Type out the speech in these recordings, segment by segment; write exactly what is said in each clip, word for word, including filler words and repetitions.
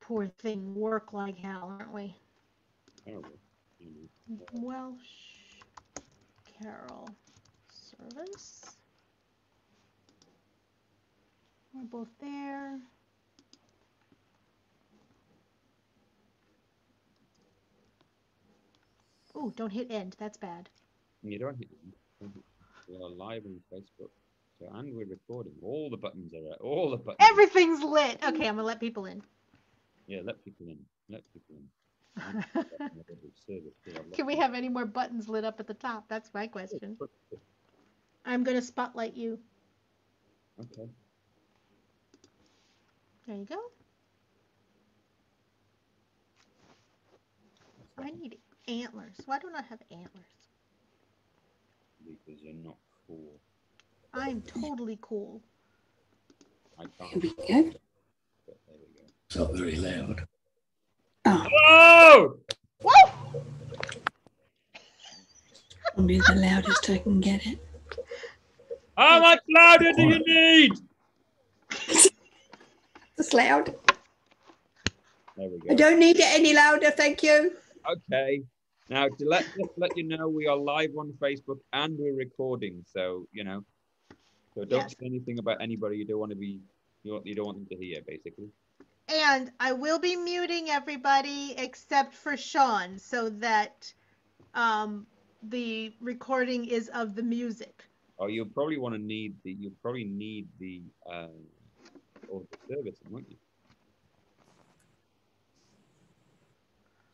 poor thing work like hell, aren't we? Terrible. You know. Welsh Carol Service. We're both there. Oh, don't hit end. That's bad. You don't hit end. We are live on Facebook. So, and we're recording. All the buttons are out. All the buttons. Everything's lit. Okay, I'm gonna let people in. Yeah, let people in. Let people in. Can we have any more buttons lit up at the top? That's my question. I'm gonna spotlight you. Okay. There you go. I need antlers. Why don't I have antlers? Because you're not cool. I'm totally cool. I can't. Here we go. But there we go. It's not very loud. Oh. Oh! Woo! Probably the loudest I can get it. How much louder do you need? It's loud. There we go. I don't need it any louder, thank you. Okay. Now, to let just let you know, we are live on Facebook and we're recording. So, you know, so don't Yes. say anything about anybody you don't want to be, you don't, you don't want them to hear, basically. And I will be muting everybody except for Sean so that um, the recording is of the music. Oh, you'll probably want to need the, you'll probably need the, uh, or the service, won't you?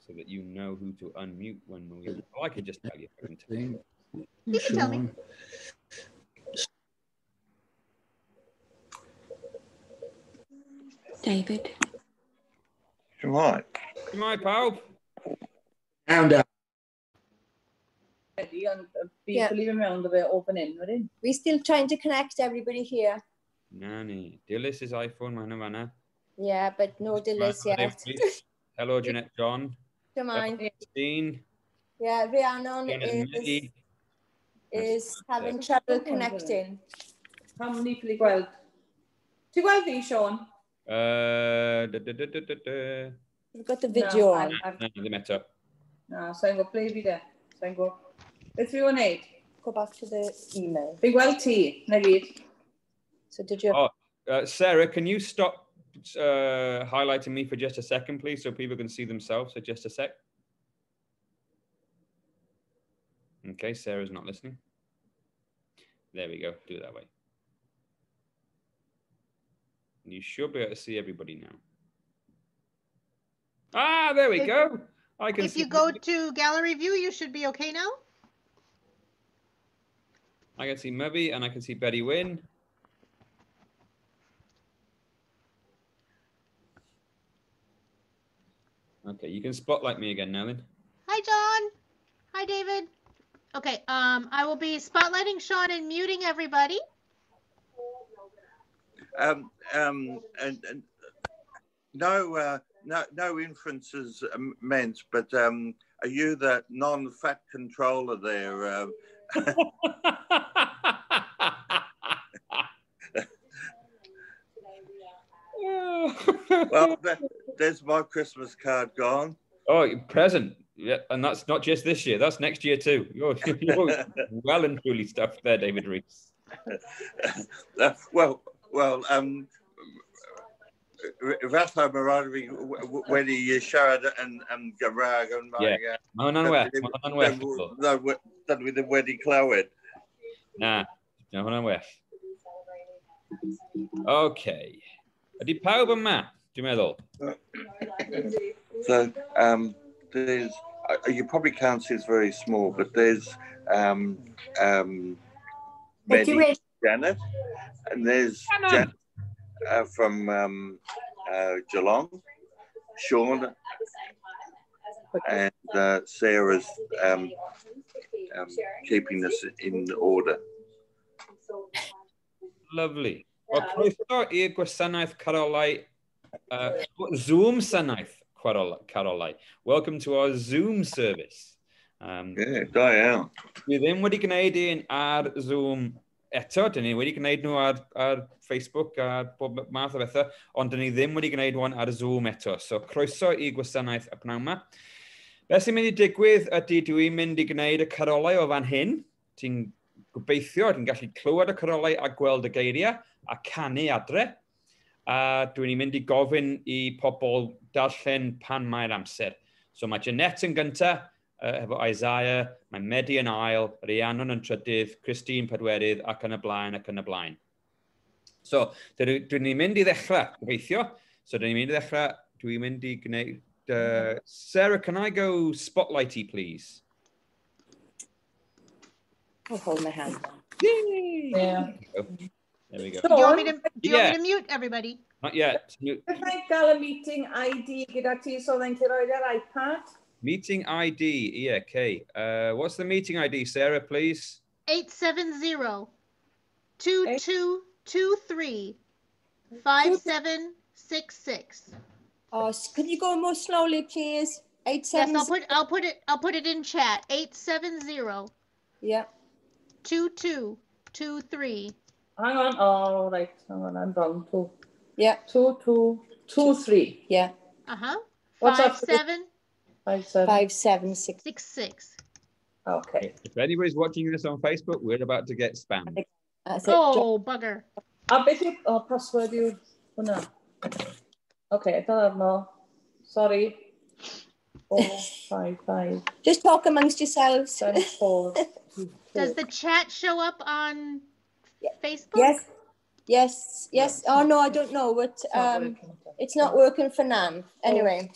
So that you know who to unmute when we. Oh, I could just tell you. I can tell you. You can tell me. Sean. David. Right. My pal. Sound out. Yeah. We're still trying to connect everybody here. Nanny. Dilys is iPhone, man, man. Yeah, but no Dilys yet. Hello, Jeanette John. Come on. Christine. Yeah, Rhiannon Janet is, Maggie. is having trouble connecting. Pam ni ffili gweld? Ti'n gweld fi, Sean? Uh, da, da, da, da, da, da. We've got the video No, on. I've- Na, ddim eto. Na, sa'n gwybod ble fi de. Sa'n gwybod. Beth fi o'n neud? Go back to the email. Fi'n gweld ti, na gyd. So did you? Oh, uh, Sarah, can you stop uh, highlighting me for just a second, please, so people can see themselves? So just a sec. Okay, Sarah's not listening. There we go. Do it that way. You should be able to see everybody now. Ah, there we If- go. I can If see you go to gallery view, you should be okay now. I can see Mubby and I can see Betty Wynn. Okay, you can spotlight me again now then. Hi, John. Hi, David. Okay, um, I will be spotlighting Sean and muting everybody. Um, um, and, and no, uh, no, no inferences um, meant, but um, are you the non-fat controller there? Uh, well, that, there's my Christmas card gone. Oh, present. Yeah, and that's not just this year. That's next year too. You're, you're well and truly stuffed there, David Rees. Uh, well, well, um, fatha mae rhaid i fi wedi siarad yn, yn Gymraeg. Ond mae, Yeah. Mae hwnna'n well. Mae hwnna'n well. Dydw i ddim wedi clywed. Na, mae hwnna'n well. Okay. Ydy pawb yma, dwi'n meddwl? So, um, there's, uh, you probably can't see, it's very small, but there's um, um, Medi Janet, and there's Janet uh, from um, uh, Geelong, Sean, and uh, Sarah's um, um, keeping us in order. Lovely. Wel, croeso i'r gwasanaeth Carolau, uh, Zoom Sanaeth Carolau. Welcome to our Zoom service. Um, yeah, da iawn. Dwi ddim wedi gwneud un ar Zoom Eto, dyn ni wedi gwneud nhw ar, ar Facebook a bob math o bethau, ond dyn ni ddim wedi gwneud one ar Zoom eto. So, croeso i gwasanaeth y pnawn yma. Beth sy'n mynd i digwydd ydy dwi'n mynd i gwneud y carolau o fan hyn. Ti'n gobeithio, ti'n gallu clywed y carolau a gweld y geiriau a canu adre. A dwi'n mynd i gofyn i pobl darllen pan mae'r amser. So mae Jeanette yn gyntaf, uh, efo Isaiah, mae Medi yn ail, Rhiannon yn trydydd, Christine pedwerydd, ac yn y blaen, ac yn y blaen. So, dwi'n dwi mynd i ddechrau, gobeithio. So, dwi'n mynd i ddechrau, dwi'n mynd i gwneud... Uh, Sarah, can I go spotlighty, please? I'll hold my hand. Yay! Yeah. There we go. Do you want me to, do you Yeah. want me to mute everybody? Not yet. Mute. Gallai gael y meeting I D gyda ti so dda'n ti roed ar iPad? Meeting I D, yeah, okay. Uh, what's the meeting I D, Sarah, please? eight seven zero, two two two three, five seven six six. Oh, could you go more slowly, please? Eight Yes, seven. I'll put, I'll put it, I'll put it in chat. eight seven zero. Yeah. two two two three. Hang on. Oh, right. Hang on. I'm wrong. Two. Yeah. Two, two, two, three. Yeah. Uh-huh. What's Five, after the seven. Five, seven. Five, seven, six. Six, six. Okay. If anybody's watching this on Facebook, we're about to get spammed. That's it. Oh, bugger. A beth yw, oh, password yw hwnna? Okay, I don't know. Sorry. Four, five, five. Just talk amongst yourselves. Seven, four, two, Does two. the chat show up on Facebook? Yes. Yes, yes. Oh, no, I don't know. But, It's not um, working. it's not working for Nan. Anyway,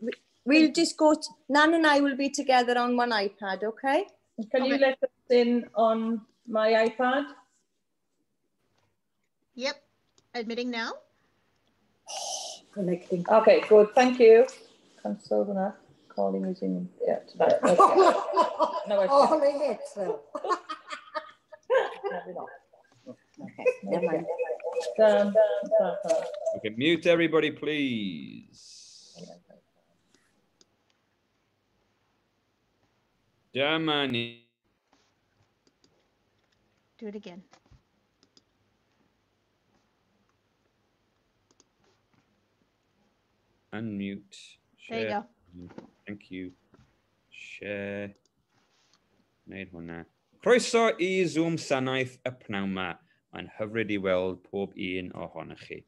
we, we'll just go. To, Nan and I will be together on one iPad, okay? Can you Okay. let us in on my iPad? Yep. Admitting now. Connecting. Okay, good. Thank you. Cancel that. Calling using yeah tonight. Okay. No, I Oh, they hit them. Okay, never mind. Done. Done. Done. Okay, mute everybody, please. Dyma ni. Do it again. Unmute. There you Share. go. Thank you. Share. Wneud hwnna. Croeso i Zoom Sanaeth y pnawn 'ma. Mae'n hyfryd i weld pob un ohonoch chi.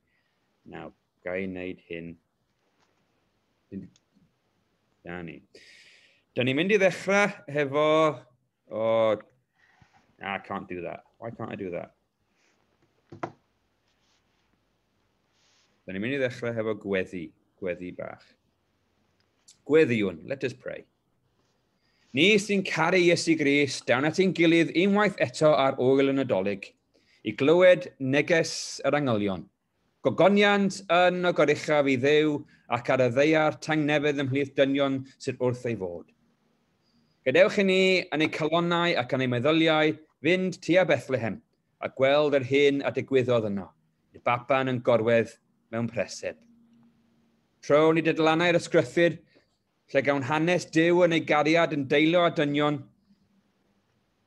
Nawr, ga i wneud hyn. Da ni. Da ni'n mynd i ddechrau hefo... Oh, I can't do that. Why can't I do that? Da ni'n mynd i ddechrau hefo gweddi. Gweddi bach. Gweddïwn. Let us pray. Ni sy'n caru Iesu Grist, down at ein gilydd unwaith eto ar ŵyl y Nadolig, i glywed neges yr angylion. Gogoniant yn y goruchaf i Dduw ac ar y ddaear tangnefedd ymhlith dynion sydd wrth ei fod. Gadewch i ni yn eu calonnau ac yn eu meddyliau fynd tua Bethlehem a gweld yr hyn a digwyddodd yno, y baban yn gorwedd mewn preseb. Trown i dudalannau'r ysgrythur, lle gawn hanes Duw yn ei gariad yn deilio â dynion,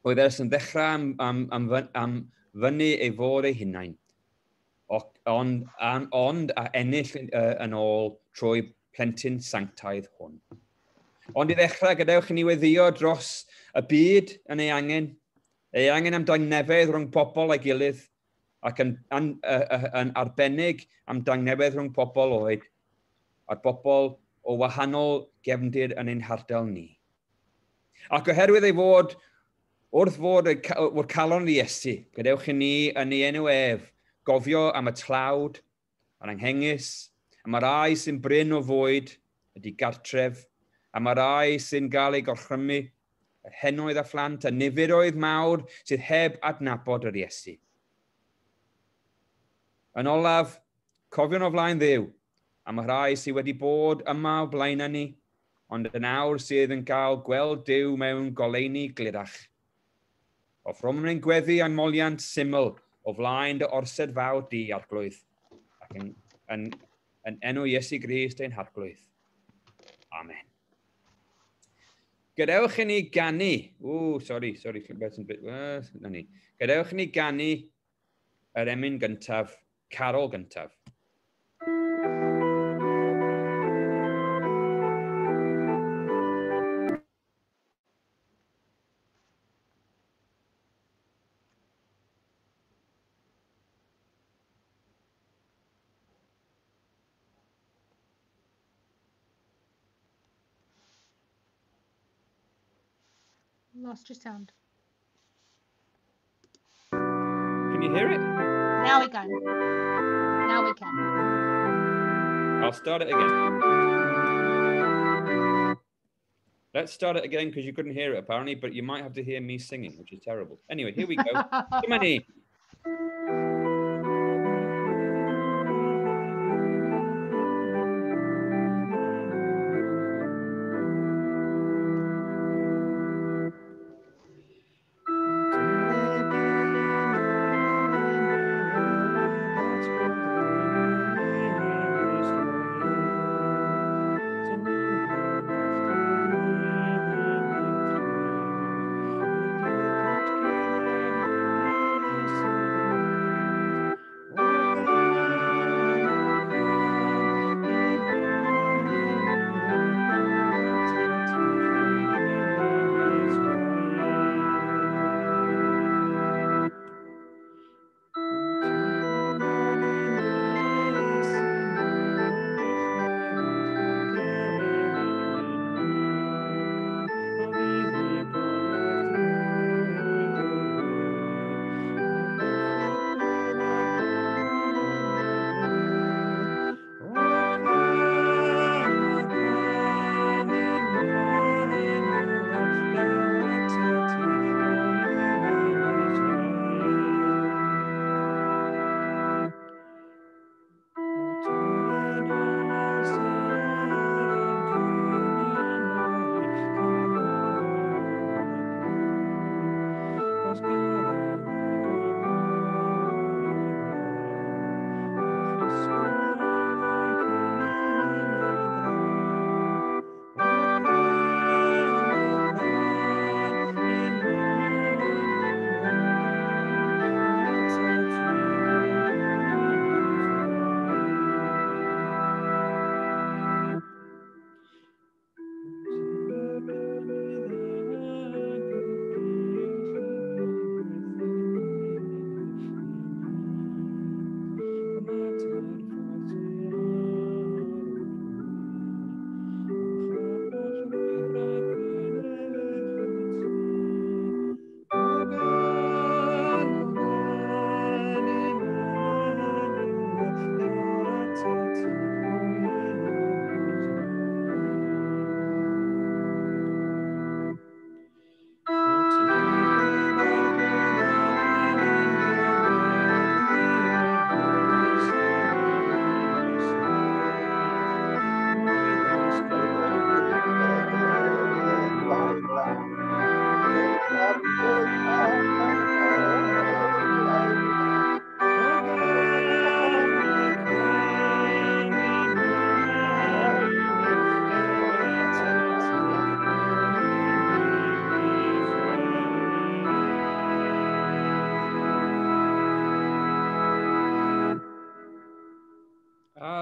oedd ers yn ddechrau am, am, am, am fyny ei fod ei hunain, ond, an, ond a ennill uh, yn ôl trwy plentyn sanctaidd hwn. Ond i ddechrau, gadewch i ni weddïo dros y byd yn ei angen, ei angen am dangnefedd rhwng pobl a'i gilydd, ac yn, yn, yn, yn arbennig am dangnefedd rhwng pobl oed, a'r bobl o wahanol gefndir yn ein hardal ni. Ac oherwydd ei fod, wrth fod y wrth calon i Iesu, gadewch i ni yn ei enw ef, gofio am y tlawd, a'r anghengus, am y rai sy'n brin o fwyd, ydy gartref, am y rai sy'n gael ei gorchrymu, yr henoedd a phlant, a niferoedd mawr sydd heb adnabod yr Iesu. Yn olaf, cofion o flaen Dduw, am y rhai sydd wedi bod yma o blaen ni, ond yn awr sydd yn cael gweld Duw mewn goleuni glirach. Offrymwn ein gweddi a'n moliant syml o flaen dy orsedd fawr di, Arglwydd, ac yn, yn, yn enw Iesu Grist ein Harglwydd. Amen. Gadewch i ni ganu. Ww, sorry, sorry, beth yn bit... Na ni. Gadewch i ni ganu yr emyn gyntaf, carol gyntaf. Lost your sound. Can you hear it? Now we can. Now we can. I'll start it again. Let's start it again because you couldn't hear it apparently, but you might have to hear me singing, which is terrible. Anyway, here we go. Dyma ni.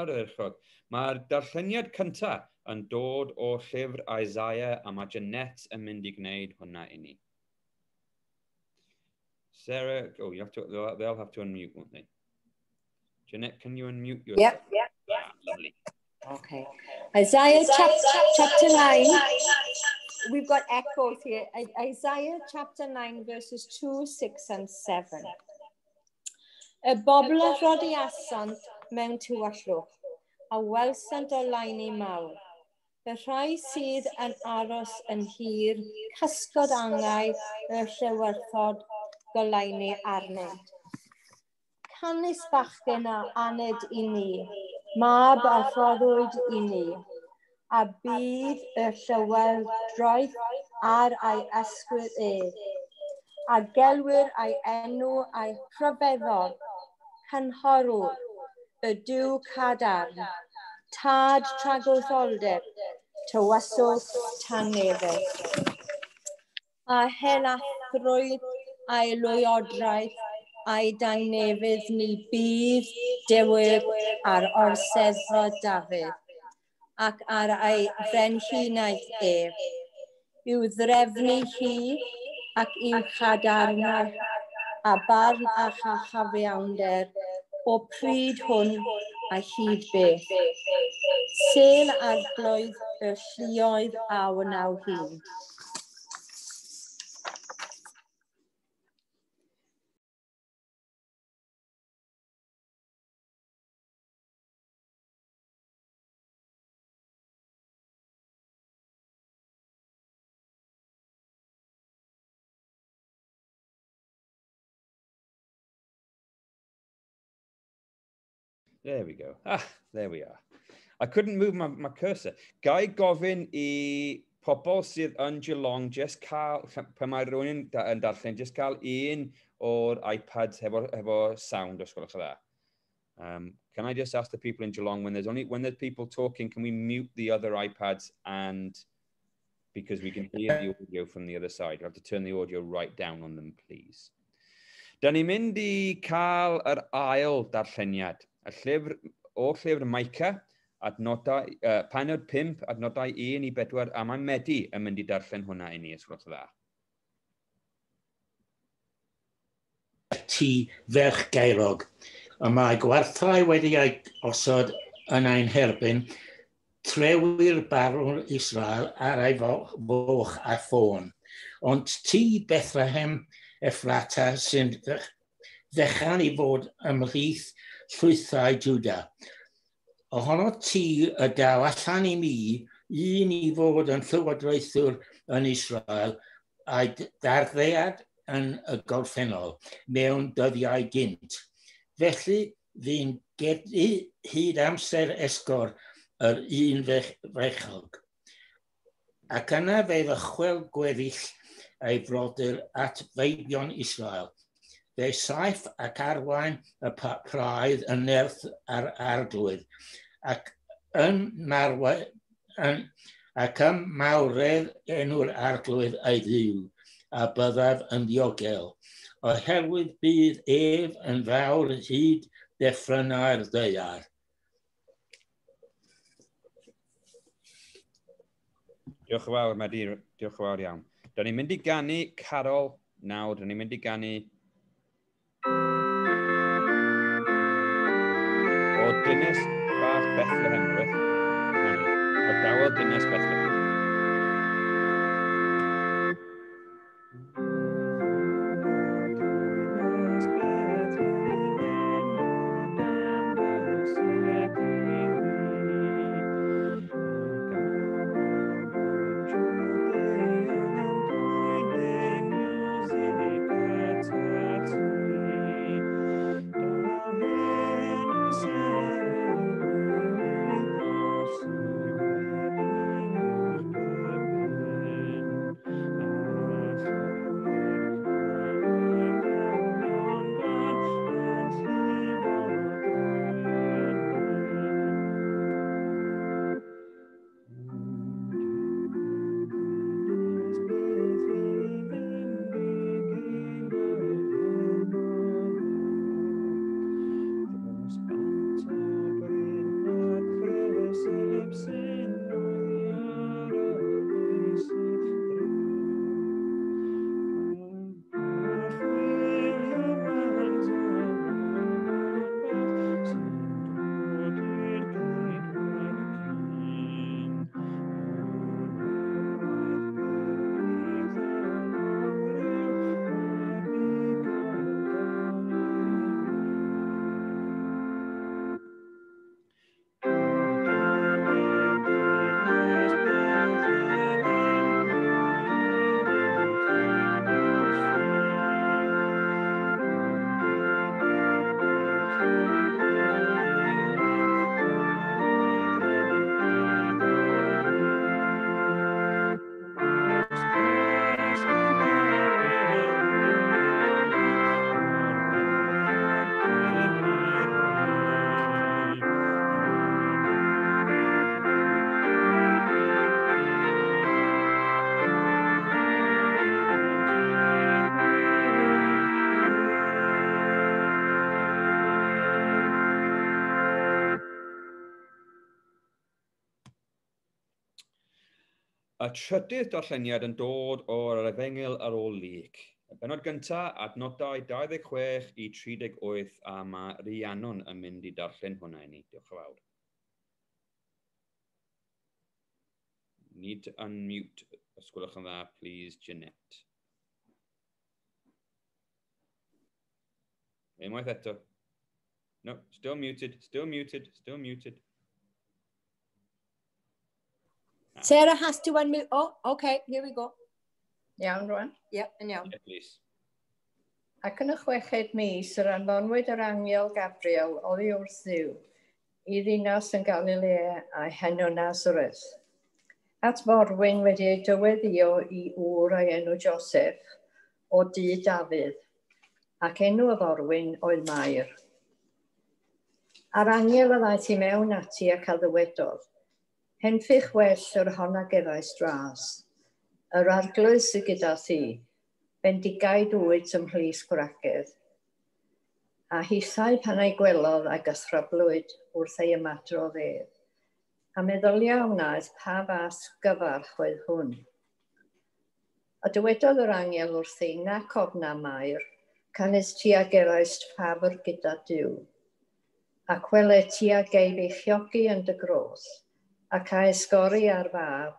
Ardderchog. Mae'r darlleniad cyntaf yn dod o llyfr Isaiah a mae Jeanette yn mynd i gwneud hwnna i ni. Sarah, oh, you have to, they'll, they'll have to unmute, won't they? Jeanette, can you unmute yourself? Yep. Yep. Ah, lovely. Okay. Isaiah chapter, chapter nine. We've got echoes here. Isaiah chapter nine, verses two, six and seven. Y bobl a rhodiasant mewn tywyllwch, a welsant oleuni mawr. Y rhai sydd yn aros yn hir, cysgod angau y llewyrthod goleuni arnynt. Canys bachgen a aned i ni, mab a rhoddwyd i ni, a bydd y llywodraeth ar ei ysgwydd ef, a gelwir ei enw a'i rhyfeddol, cynghorwr, y Duw cadarn, tad tragwyddoldeb, Tywysog tangnefedd. A helathrwydd a'i lwyodraeth a'i dangnefedd ni bydd dewyg ar orseddfa Dafydd ac ar ei frenhinaeth ef, i'w ddrefnu hi ac i'w chadarnau a barn a chyfiawnder o pryd hwn a hyd beth. Sêl arglwydd y lluoedd a wnaw hyn. There we go. Ah, there we are. I couldn't move my, my cursor. Ga i gofyn i pobl sydd yn Geelong, just cael, pan mae rhywun yn, yn darllen, just cael un o'r iPads hefo, hefo sound, os gwelwch yn dda. Um, can I just ask the people in Geelong, when there's only when there's people talking, can we mute the other iPads and because we can hear the audio from the other side. You have to turn the audio right down on them, please. Da ni'n mynd i cael yr ail darlleniad. Y llyfr, o llyfr Micah, adnodau, uh, pennod pump, adnodau un i bedwar, a mae Medi yn mynd i darllen hwnna i ni, os gwelwch yn dda. Ti ferch gaerog, y mae gwarthau wedi ei osod yn ein herbyn, trewyr barwn Israel ar ei foch a ffôn. Ond ti, Bethlehem Ephrata, sy'n ddechan i fod ymhlith llwythau Juda. Ohono ti y daw allan i mi, un i fod yn llywodraethwr yn Israel, a'i darddiad yn y gorffennol mewn dyddiau gynt. Felly, fi'n gedi hyd amser esgor yr un fechog. Ac yna fe ddychwel gweddill ei frodyr at feibion Israel. Fe saif ac arwain y praidd yn nerth ar arglwydd, ac yn, marwe, yn, ac ym mawredd enw'r arglwydd ei ddiw, a byddaf yn ddiogel, oherwydd bydd ef yn fawr hyd deffrynau'r ddaear. Diolch yn fawr, Medi. Diolch yn fawr iawn. Da ni'n mynd i ganu carol nawr. Da ni'n mynd i ganu o Dynes Bach Bethlehem, rwyth. O dawel Dynes Bethlehem. Thank you. Y trydydd darlleniad yn dod o'r Efengyl ar ôl Luc. Y bennod gyntaf, adnodau dau ddeg chwech i tri deg wyth, a mae Rhiannon yn mynd i darllen hwnna i ni. Diolch yn fawr. Need to unmute, os gwelwch yn dda, please, Jeanette. Unwaith eto. No, still muted, still muted, still muted. Sarah has to unmute. Oh, okay, here we go. Iawn, rwan? Yep, yn iawn. Yeah, please. Ac yn y chweched mis, yr anfonwyd yr angel Gabriel oddi wrth Dduw i ddinas yn Galilea a'i henw Nazareth. At forwyn wedi ei dyweddio i ŵr a'i enw Joseph o dŷ Dafydd, ac enw y forwyn oedd Mair. A'r angel a ddaeth i mewn ati ac a ddywedodd, Henffych well yr hon a gefais dras, yr arglwydd sydd gyda thi, bendigaid wyt ymhlith gwragedd. A hithau pan ei gwelodd a gythryblwyd wrth ei ymadrodd ef, a meddylia wnaeth pa fath gyfarch oedd hwn. A dywedodd yr angel wrthi, nac ofna Mair, canys ti a geraist ffafr gyda Duw. Ac wele ti a gei beichiogi yn dy gros, ac a esgori ar fab,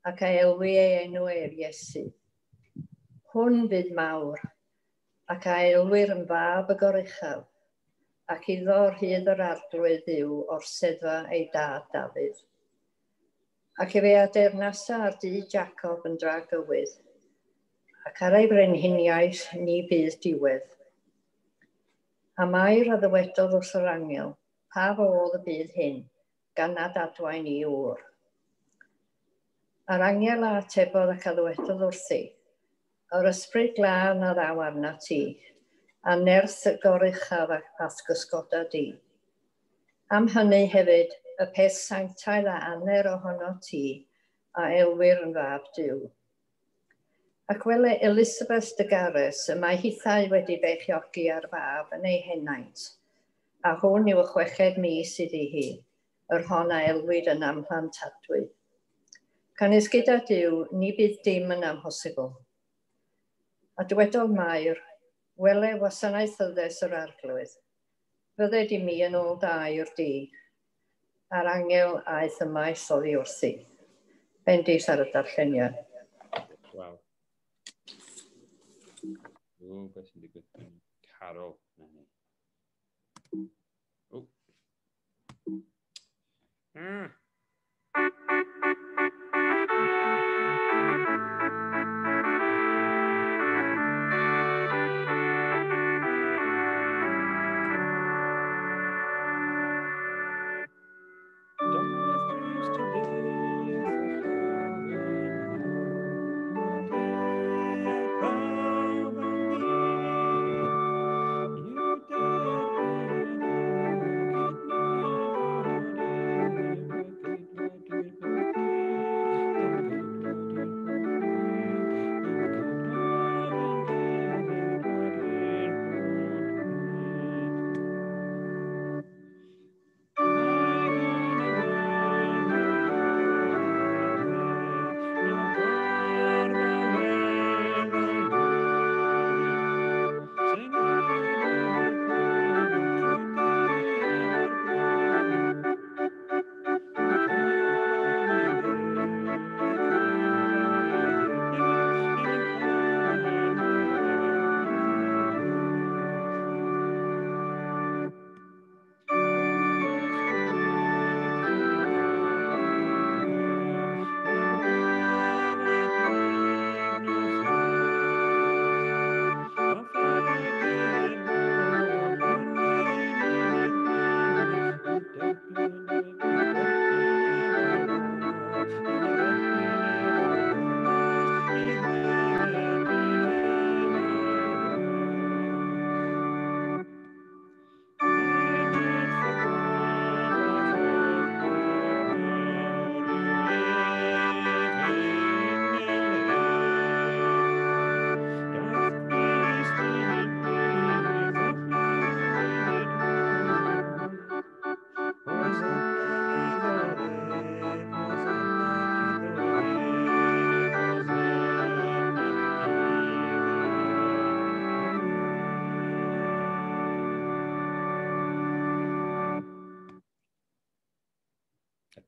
ac a elwi ei enw ef Iesu. Hwn fydd mawr, ac a elwir yn fab y goruchaf, ac iddo rhydd yr arglwydd Dduw orseddfa ei dad Dafydd. Ac efe a deyrnasa ar dŷ Jacob yn dragywydd, ac ar ei frenhiniaeth ni bydd diwedd. A Mair a ddywedodd wrth yr angel, pa fodd y bydd hyn, gan nad adwaen i ŵr. A'r angel a atebodd ac a ddywedodd wrthi, yr ysbryd glân a ddaw arnat ti, a nerth y goruchaf a'th gysgoda di. Am hynny hefyd, y peth sanctaidd a aner ohono ti, a elwir yn fab Duw. Ac wele Elisabeth dy gares, y mae hithau wedi beichiogi ar fab yn ei henaint, a hwn yw y chweched mis iddi hi, yr hon a elwid yn amhlantadwy. Canys gyda Duw, ni bydd dim yn amhosibl. A dywedodd Mair, wele wasanaethyddes yr arglwydd, fydded i mi yn ôl da i'r di, a'r angel aeth ymaith oddi wrthi. Bendith ar y darlleniad. Waw. O, beth sy'n digwydd? Carol. O. Mm.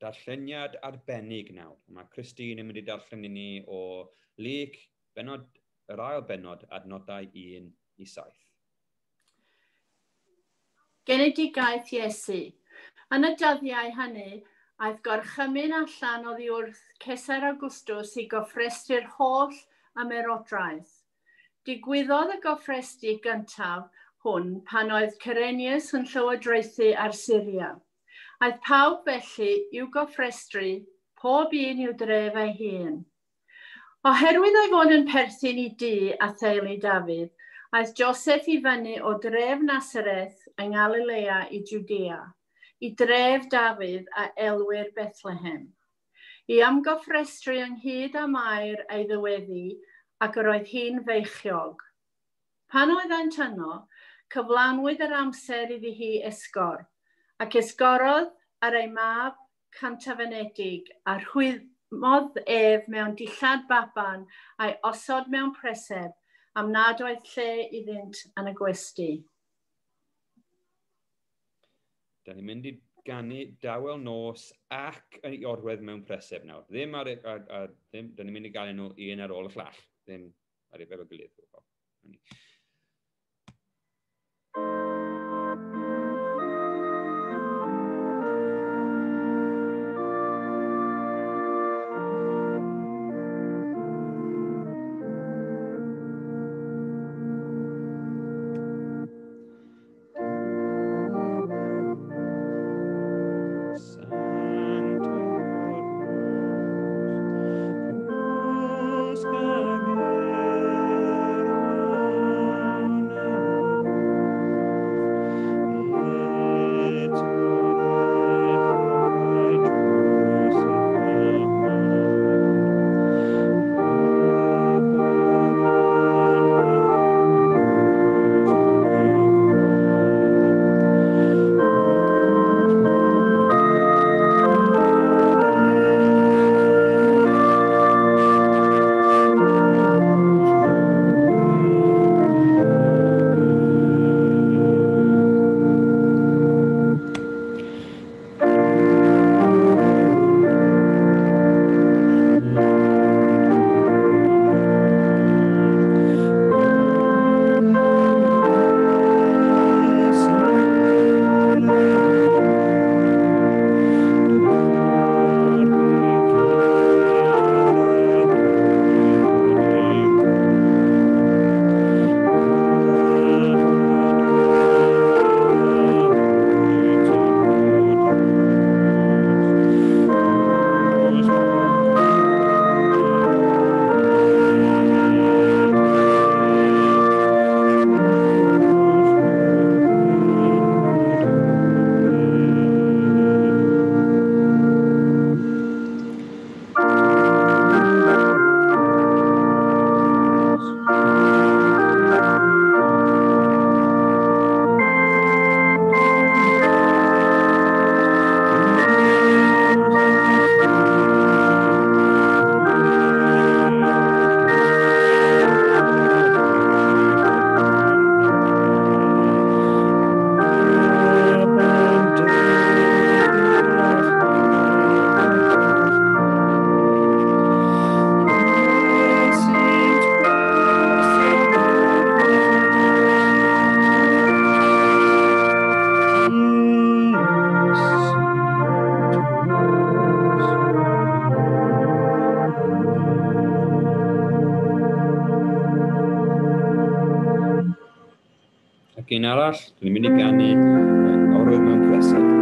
darlleniad arbennig nawr. Mae Christine yn mynd i darllen i ni o Luc, benod, yr ail bennod, adnodau un i saith. Genedigaeth Iesu. Yn y dyddiau hynny, aeth gorchymyn allan oddi wrth Cesar Augustus i gofrestru'r holl ymerodraeth. Digwyddodd y gofrestru gyntaf hwn pan oedd Cyrenius yn llywodraethu ar Syria. Aeth pawb felly i'w gofrestru, pob un i'w dref ei hun. Oherwydd ei fod yn perthyn i dŷ a theulu Dafydd, aeth Joseph i fyny o dref Nazareth yng Nghalilea i Jwdea, i dref Dafydd a elwir Bethlehem, i ymgofrestru ynghyd â Mair ei ddyweddi, ac yr oedd hi'n feichiog. Pan oeddent yno, cyflanwyd yr amser iddi hi esgor, ac esgorodd ar ei mab cyntafenedig, a rhwymodd ef mewn dillad baban a'i osod mewn preseb, am nad oedd lle iddynt yn y gwesty. Da ni'n mynd i ganu dawel nos ac yn ei orwedd mewn preseb nawr. Ddim ar, ar, ar ddim, da ni'n mynd i ganu nhw un ar ôl y llall. Ddim ar ei efo gilydd. Un arall, dwi'n mynd i ganu orwedd mewn preseb.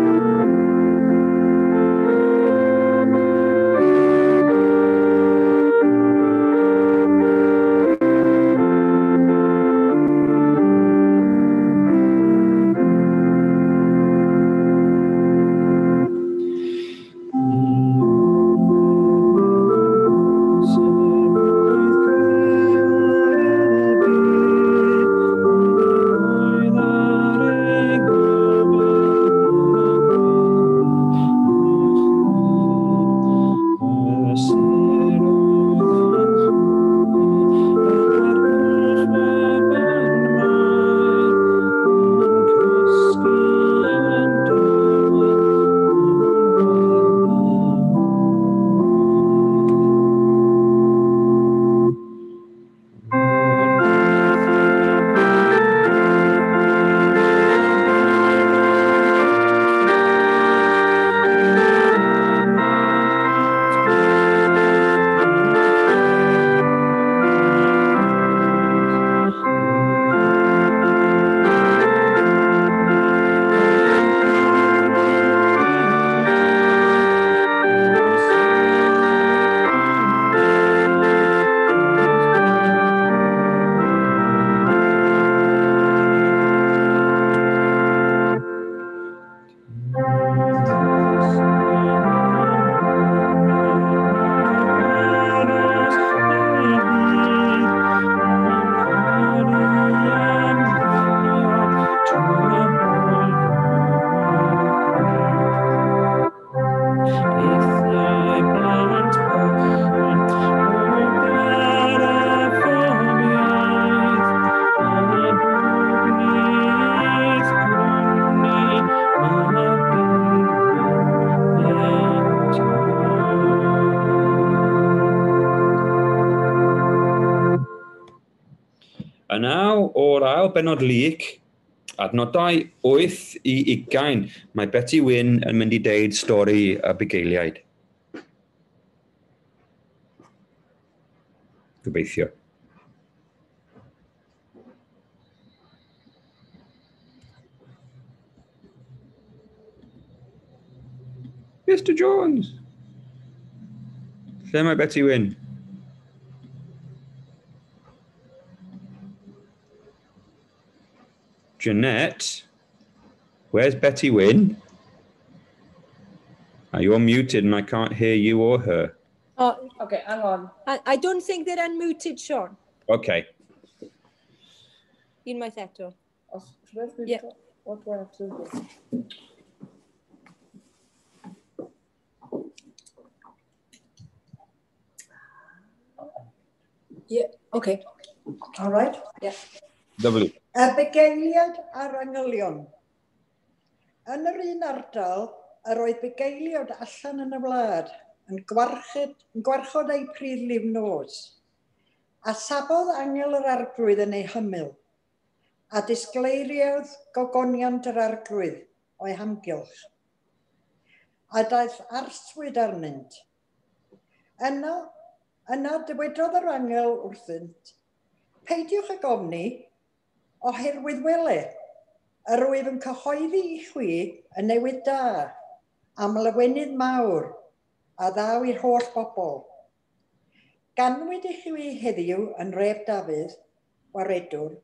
naw o'r ail benod Luc, adnodau wyth i ugain, mae Betty Wyn yn mynd i deud stori y bugeiliaid. Gobeithio. Mister Jones! Lle mae Betty Wyn? Jeanette, where's Betty Wyn? Oh, you're muted and I can't hear you or her. Oh, okay, hang on. I, I don't think they're unmuted, Sean. Okay. Unwaith eto. Yeah. What do I have to do? Yeah, okay. All right. Yeah. Lovely. Y bugeiliaid a'r angylion. Yn yr un ardal, yr oedd bugeiliaid allan yn y wlad yn gwarchod, yn gwarchod eu pryd liw nos. A safodd angel yr arglwydd yn ei hymyl, a disgleiriodd gogoniant yr arglwydd o'i hamgylch. A daeth arswyd arnynt. Yna, yna dywedodd yr angel wrthynt, peidiwch ag ofni, oherwydd wele, yr wyf yn cyhoeddi i chwi y newydd da, am lawenydd mawr, a ddaw i'r holl bobl. Ganwyd i chwi heddiw yn ref Dafydd, waredwr,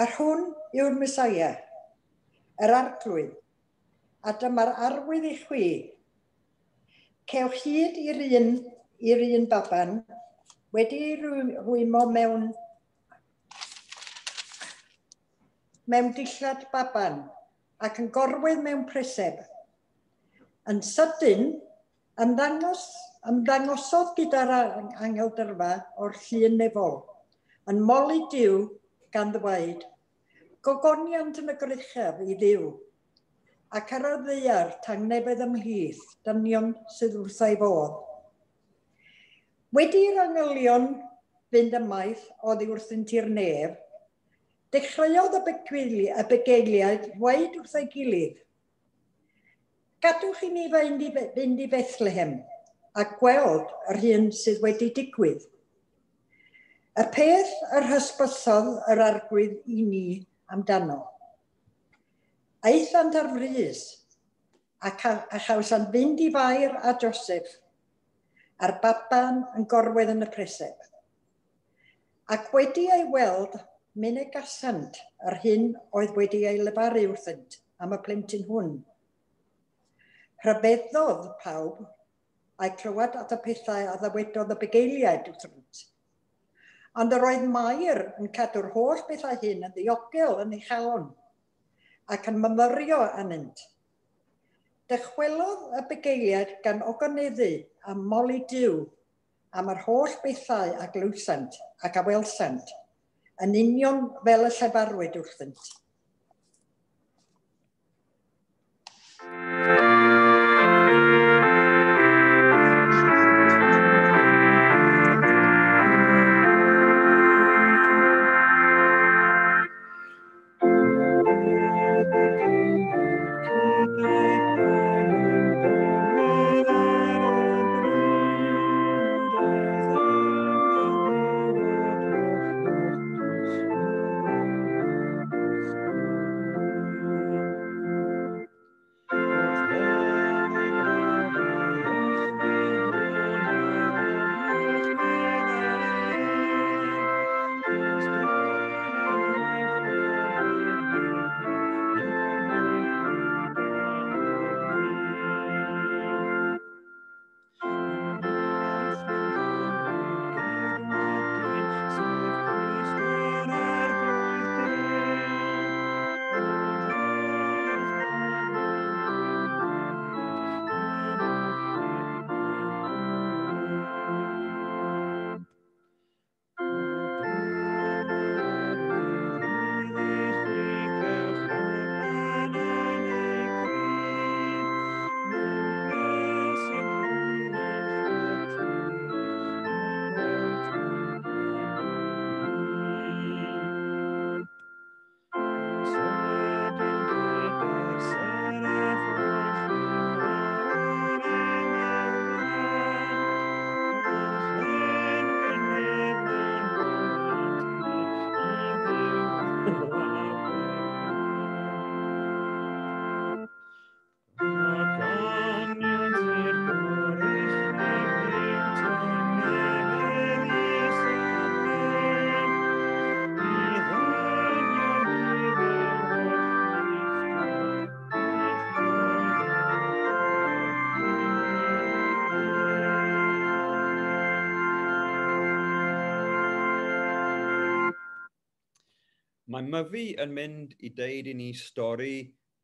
yr hwn yw'r Mesaia, yr arglwydd, a dyma'r arwydd i chwi. Cewch hyd i'r un, i'r un baban, wedi ei rwymo mewn mewn dillad baban ac yn gorwedd mewn preseb. Yn sydyn, ymddangos, ymddangosodd gyda'r angel dyrfa o'r llun nefol, yn moli Duw gan ddweud, gogoniant yn y gruchaf i Dduw, ac ar y ddaear tangnefedd ymhlith, dynion sydd wrth ei fodd. Wedi'r angylion fynd ymaith oddi wrthynt i'r nef, dechreuodd y bugeiliaid ddweud wrth ei gilydd, gadwch i ni fynd i, fynd i Bethlehem a gweld yr hyn sydd wedi digwydd. Y peth yr hysbysodd yr arglwydd i ni amdano. Aethant ar frys ac a, a chawsant fynd i Fair a Joseph a'r baban yn gorwedd yn y preseb. Ac wedi ei weld, mynegasant yr hyn oedd wedi ei lefaru wrthynt am y plentyn hwn. Rhyfeddodd pawb a'i clywed at y pethau a ddywedodd y bugeiliaid wrthynt. Ond yr oedd Mair yn cadw'r holl bethau hyn yn ddiogel yn ei chalon ac yn myfyrio arnynt. Dychwelodd y bugeiliaid gan ogoneddu a moli Duw am yr holl bethau a glywsant ac a welsant, yn union fel y llefarwyd wrthynt. Thank you. Mae Myfi yn mynd i deud i ni stori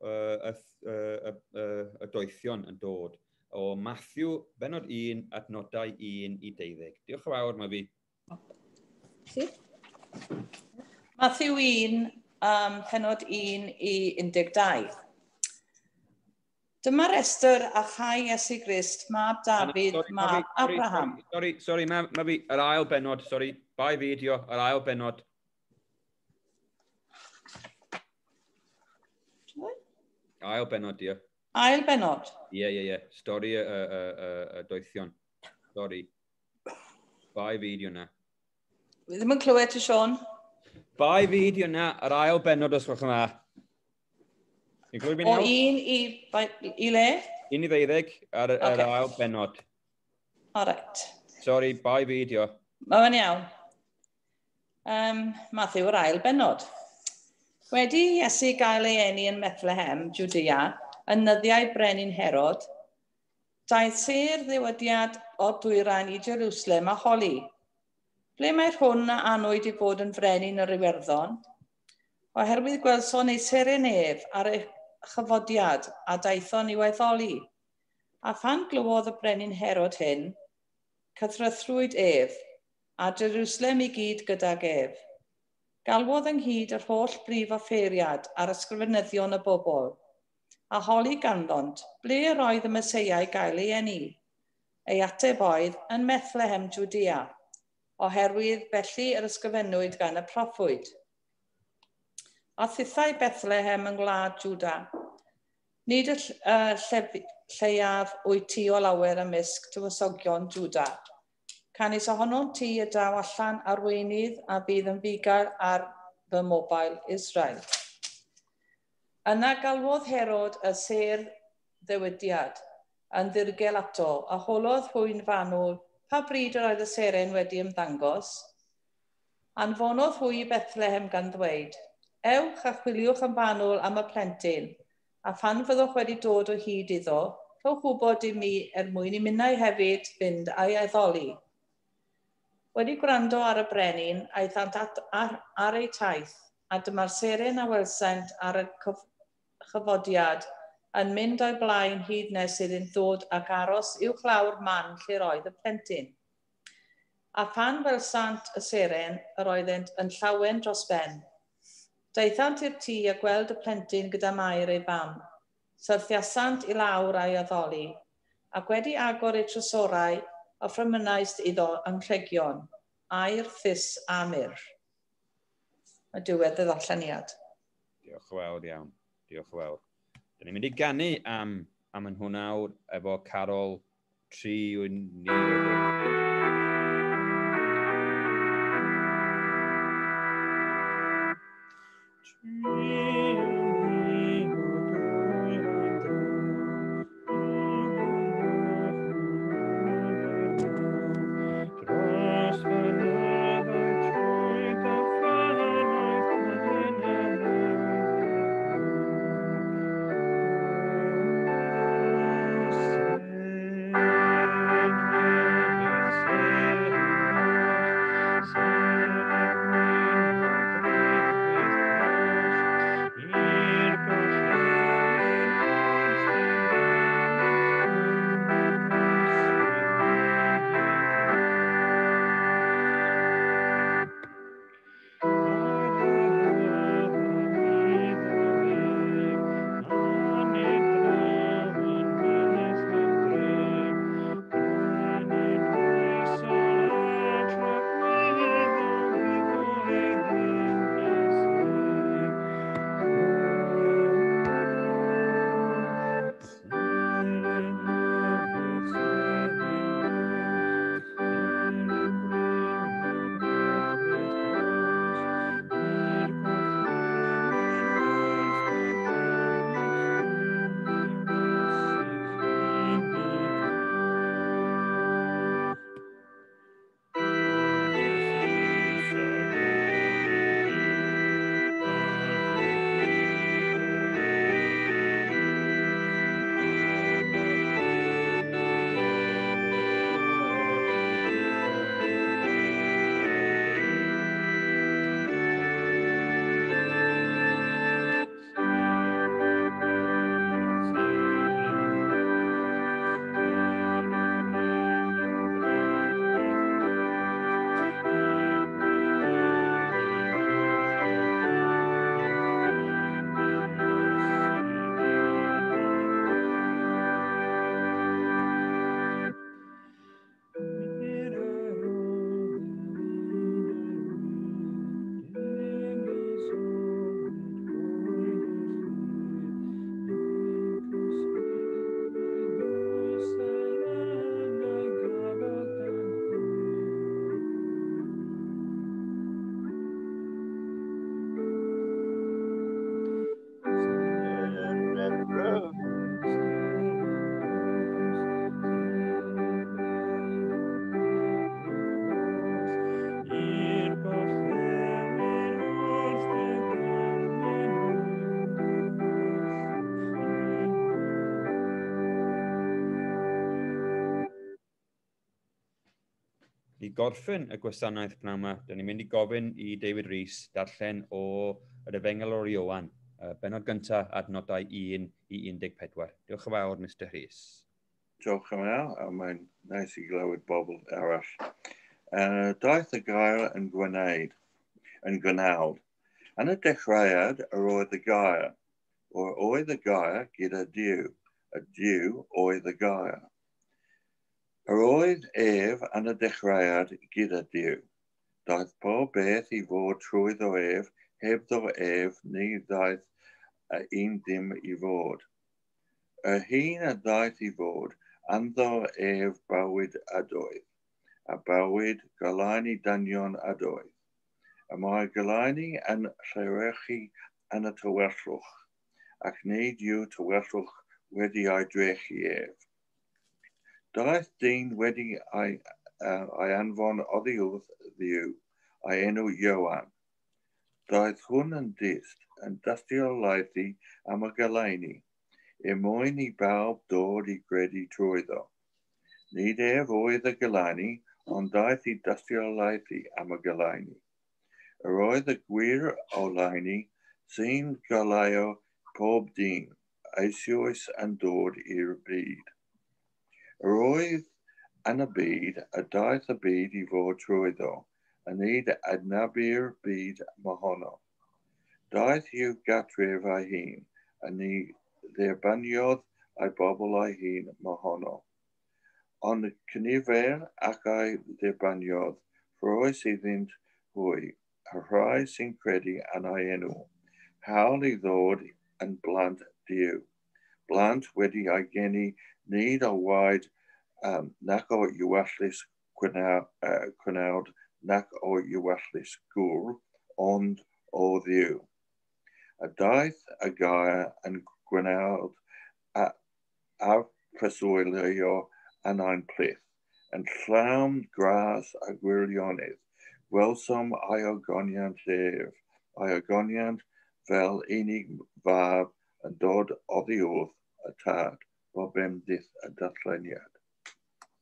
uh, y, y, y, y, y doethion yn dod o Matthew, benod un, adnodau un i deuddeg. Diolch yn fawr, Myfi. Si? Matthew un, um, penod un i un deg dau. Dyma restr a chai Iesu Grist, mab Dafydd, sorry, mab sorry, Abraham. Sorry, sorry, ma, ma fi, yr ail benod, sorry, bai fideo, yr ail benod. Ail benod, dio. Ail benod? Ie, ie, ie. Stori y, y, y, y doethion. Stori. Bai fideo na. Fi ddim yn clywed ti, Sean. Bai fideo na, yr ail benod os gwelwch yn dda. Ni'n clywed fi'n O iawn? un i, i le? Un i ddeuddeg ar yr Ocê. ail benod. All right. Sorry, bai fideo. Mae fe'n iawn. Um, Matthew, yr ail benod. Wedi i Iesu gael ei eni yn Bethlehem, Judea, yn nyddiau brenin Herod, daeth sêr ddiwydiad o'r dwyrain i Jerusalem a holi. Ble mae'r hwn a anwyd i fod yn frenin yr Iwerddon? Oherwydd gwelson ei seren ef ar ei chyfodiad a daethon i'w addoli. A phan glywodd y brenin Herod hyn, cythrythrwyd ef, a Jerusalem i gyd gydag ef. Galwodd ynghyd yr holl brif offeiriad a'r ysgrifenyddion y bobl, a holi ganddont ble yr oedd y Meseia i gael ei eni. Ei ateb oedd yn Bethlehem, Judea, oherwydd felly yr ysgrifennwyd gan y proffwyd. A thithau Bethlehem yng ngwlad Jwda, nid y ll- lleiaf wyt ti o lawer ymysg tywysogion Jwda. Canys ohono ti y daw allan arweinydd a bydd yn fugail ar fy mobl Israel. Yna galwodd Herod y sêr ddewidiad yn ddirgel ato, a holodd hwy'n fanwl pa bryd yr oedd y seren wedi ymddangos. Anfonodd hwy i Bethlehem gan ddweud, ewch a chwiliwch yn fanwl am y plentyn, a phan fyddwch wedi dod o hyd iddo, rhowch wybod i mi er mwyn i minnau hefyd fynd a'i addoli. Wedi gwrando ar y brenin, aethant at, ar, ar eu taith, a dyma'r seren a welsent ar y cyf, chyfodiad yn mynd o'i blaen hyd nes iddynt ddod ac aros uwchlaw'r man lle'r oedd y plentyn. A phan welsant y seren, yr oeddent yn llawen dros ben. Daethant i'r tŷ a gweld y plentyn gyda Mair ei fam. Syrthiasant i lawr a'i addoli, ac wedi agor eu trysorau, offrymynais iddo anrhegion, aur, thus a myrrh. Mae diwedd y ddarlleniad. Diolch yn fawr iawn. Diolch yn fawr. Dyn ni'n mynd i ganu am, am yn hwn awr efo Carol tri ni. Dros I gorffen y gwasanaeth pnawn yma, dyn ni'n mynd i gofyn i David Rees darllen o yr Efengyl o'r Ioan, bennod gyntaf adnodau un i un deg pedwar. Diolch yn fawr, Mister Rhys. Diolch yn fawr, a mae'n neis i glywed bobl arall. Uh, daeth y gair yn gwneud, yn gwnaud. Yn y dechreuad yr oedd y gair, or oedd y gair gyda Duw, a Duw oedd y gair. Yr oedd ef yn y dechreuad gyda Duw. Daeth pob beth i fod trwyddo ef, hebddo ef ni ddaeth un dim i fod. Yr hyn a ddaeth i fod, ynddo ef bywyd ydoedd, a bywyd goleuni dynion ydoedd. Y mae goleuni yn llewyrchu yn y tywyllwch, ac nid yw tywyllwch wedi ei drechu ef. Daeth dyn wedi ei, uh, ei anfon oddi wrth Dduw, ei enw Ioan. Daeth hwn yn dyst, yn dystiolaethu am y goleuni, er mwyn i bawb dod i gredu trwyddo. Nid ef oedd y goleuni, ond daeth i dystiolaethu am y goleuni. Yr oedd y gwir oleuni sy'n goleuo pob dyn, eisoes yn dod i'r byd. Yr oedd yn y byd, a daeth y byd i fod trwyddo, a nid adnabu'r byd mohono. Daeth i'w gartref ei hun, a ni dderbyniodd ei bobl ei hun mohono. Ond cynifer ac ei dderbyniodd, rhoes iddynt hwy, y rhai sy'n credu yn ei enw, hawl i ddod yn blant Duw. Blant wedi ei geni nid o waed um, nac o ewyllys cwnawd nac o ewyllys gŵr, ond o Dduw. A daeth y gair yn gwneud a, a preswylio yn ein plith, yn llawn gras a gwirionedd. Gwelsom ei ogoniant ef, ei ogoniant fel unig fab yn dod oddi wrth y tad, bob bendith y darlleniad.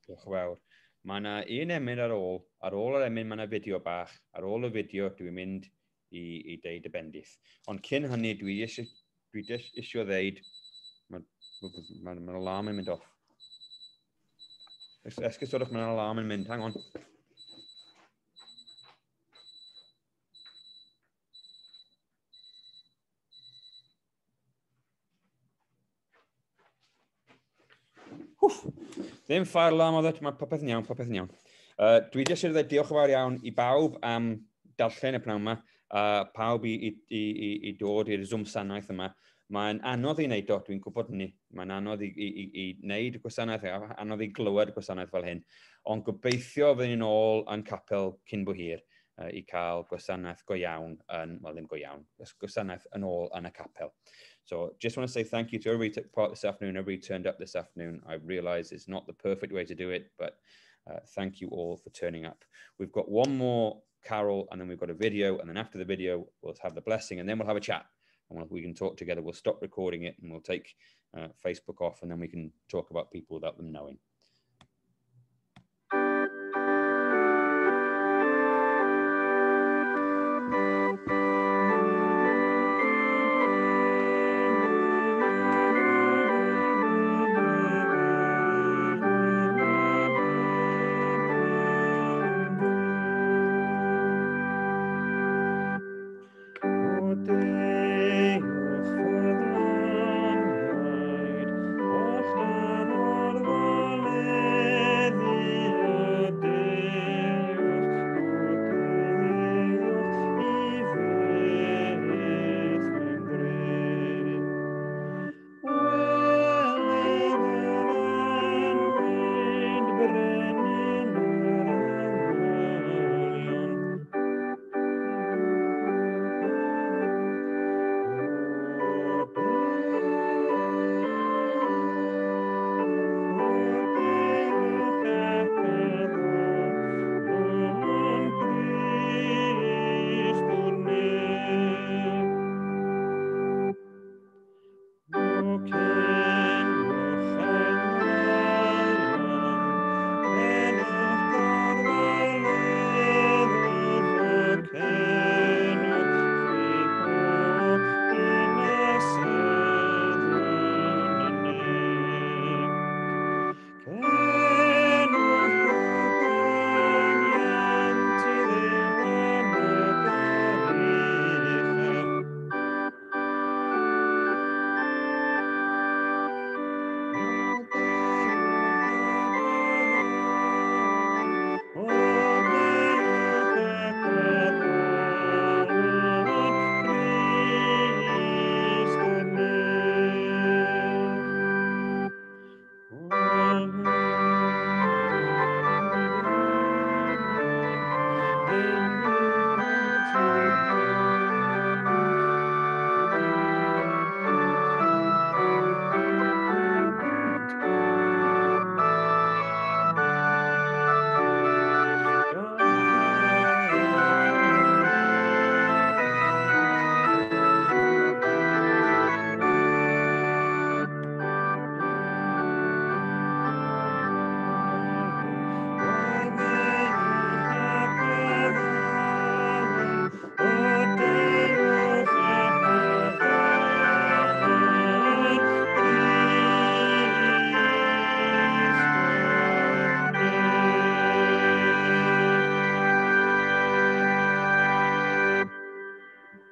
Diolch yn fawr. Mae yna un emyn ar ôl. Ar ôl yr emyn mae yna fideo bach. Ar ôl y fideo dwi'n mynd i, i deud y bendith. Ond cyn hynny dwi eisiau, dwi eisiau ddeud, mae'r ma, ma, ma alarm yn mynd off. Esgusodwch, mae'r alarm yn mynd. Hang on. Wff. Ddim fire alarm oedd e, mae popeth yn iawn, popeth yn iawn. Uh, dwi jyst eisiau dweud diolch yn fawr iawn i bawb am darllen y pnawn yma, uh, pawb i, i, i, i dod i'r Zoom sanaeth yma. Mae'n anodd i wneud o, dwi'n gwybod hynny. Mae'n anodd i, i, i, i wneud y gwasanaeth, anodd i glywed y gwasanaeth fel hyn. Ond gobeithio fyddwn ni'n ôl yn capel cyn bo hir uh, i cael gwasanaeth go iawn, yn, wel ddim go iawn, gwasanaeth yn ôl yn y capel. So just want to say thank you to everybody who took part this afternoon, everybody who turned up this afternoon. I realise it's not the perfect way to do it, but uh, thank you all for turning up. We've got one more carol and then we've got a video, and then after the video, we'll have the blessing and then we'll have a chat. And we'll, we can talk together. We'll stop recording it and we'll take uh, Facebook off, and then we can talk about people without them knowing. Deuwch ffyddlon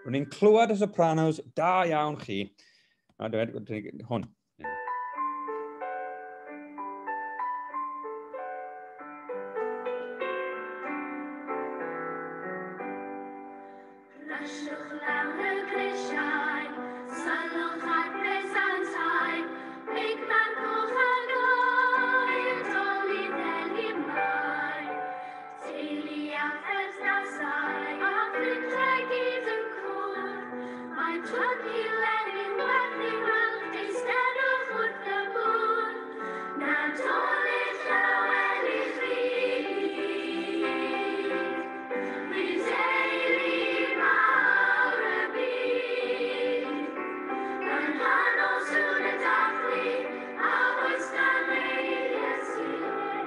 Rwy'n ni'n clywed y sopranos, da iawn chi. Na, dwi'n hwn. Rasiwch lawr y grisiau, sylwch ar bresantau, big man coch ag oer, doli ddeli mai. Teulu a pherthnasau, a ffrindiau gyd yn cwrdd, mae plygu Lenin werth ei weld, eisteddwch wrth y bwrdd. Nadolig llawen i chi gyd, i deulu mawr y byd. Yng nghanol sŵn y dathlu, a oes na le i Iesu,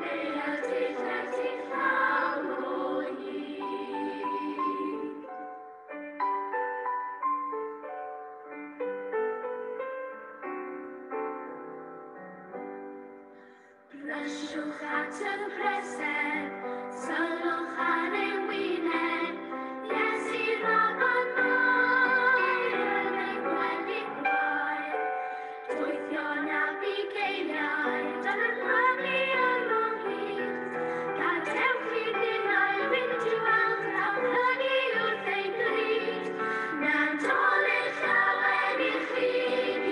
neu ydych wedi llawn o hyd. Brysiwch at y preseb, sylwch ar ei wyneb, Iesu Raban Mair yn ei gwely gwael. Doethion a bugeiliaid yn prynu yn o hyd. Gadewch i ninnau fynd i'w weld a plygu wrth ei bryd. Nadolig llawen i chi gyd,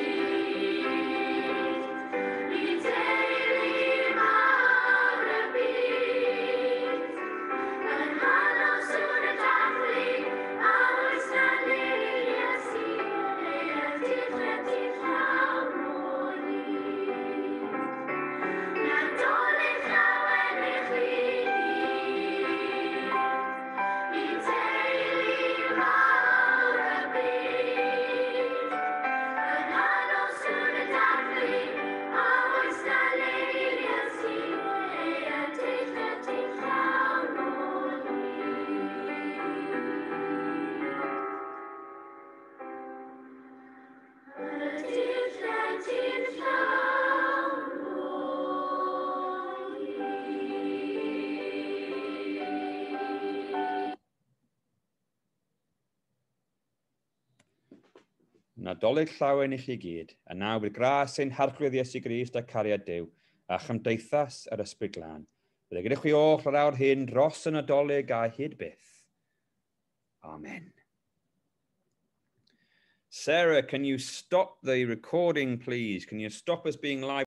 i deulu mawr y byd. Yng nghanol sŵn y dathlu, a oes na le i Iesu, neu ydych wedi llawn o hyd. Nadolig llawen i chi gyd, i teulu mawr y byd. Yng nghanol sŵn y dathlu, a oes na le i Iesu, neu ydych wedi llawn o hyd. Ydych wedi'n llawn o hyd. Nadolig llawen i chi gyd, a nawr bydd gras ein harglwydd Iesu Grist a cariad Duw, a chymdeithas yr Ysbryd Glân. Bydde gyda chwi oll yr awr hyn dros y Nadolig a hyd byth. Amen. Sarah, can you stop the recording, please? Can you stop us being live?